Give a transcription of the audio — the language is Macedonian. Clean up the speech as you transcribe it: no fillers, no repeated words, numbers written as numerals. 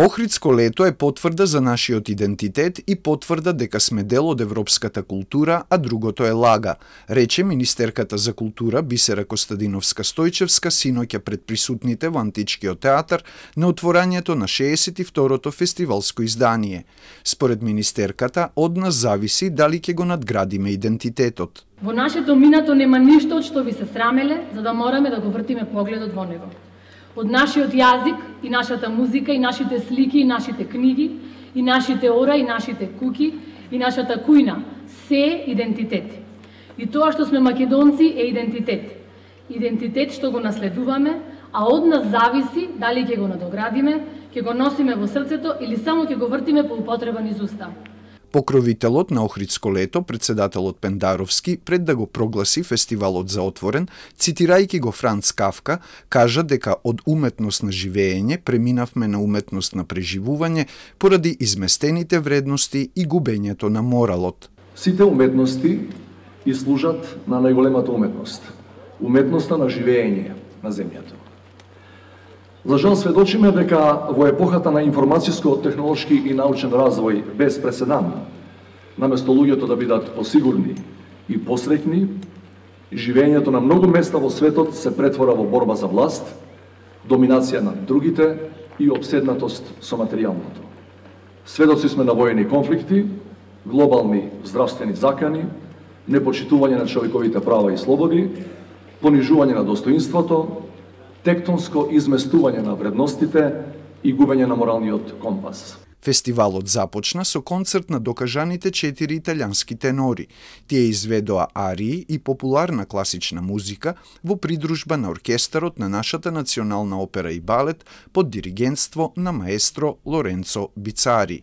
Охридско лето е потврда за нашиот идентитет и потврда дека сме дел од европската култура, а другото е лага, рече министерката за култура Бисера Костадиновска-Стојчевска синоќа пред присутните во Античкиот театар на отворањето на 62-то фестивалско издание. Според министерката, од нас зависи дали ќе го надградиме идентитетот. Во нашето минато нема ништо од што би се срамеле, за да мораме да го вртиме погледот во него. Од нашиот јазик и нашата музика и нашите слики и нашите книги и нашите ора и нашите куки и нашата кујна се идентитет. И тоа што сме македонци е идентитет. Идентитет што го наследуваме, а од нас зависи дали ќе го надоградиме, ќе го носиме во срцето или само ќе го вртиме по употреба низ уста. Покровителот на Охридско лето, председателот Пендаровски, пред да го прогласи фестивалот за отворен, цитирајќи го Франц Кафка, кажа дека од уметност на живеење преминавме на уметност на преживување поради изместените вредности и губењето на моралот. Сите уметности и служат на најголемата уметност, уметноста на живеење на земјата. За жал сведочиме дека во епохата на информацијско-технолошки и научен развој без преседан, наместо луѓето да бидат посигурни и посреќни, живеењето на многу места во светот се претвора во борба за власт, доминација на другите и обседнатост со материјалното. Сведоци сме на воени конфликти, глобални здравствени закани, непочитување на човековите права и слободи, понижување на достоинството, тектонско изместување на вредностите и губење на моралниот компас. Фестивалот започна со концерт на докажаните 4 италијански тенори. Тие изведоа арии и популарна класична музика во придружба на оркестарот на нашата национална опера и балет под диригентство на маестро Лоренцо Бицари.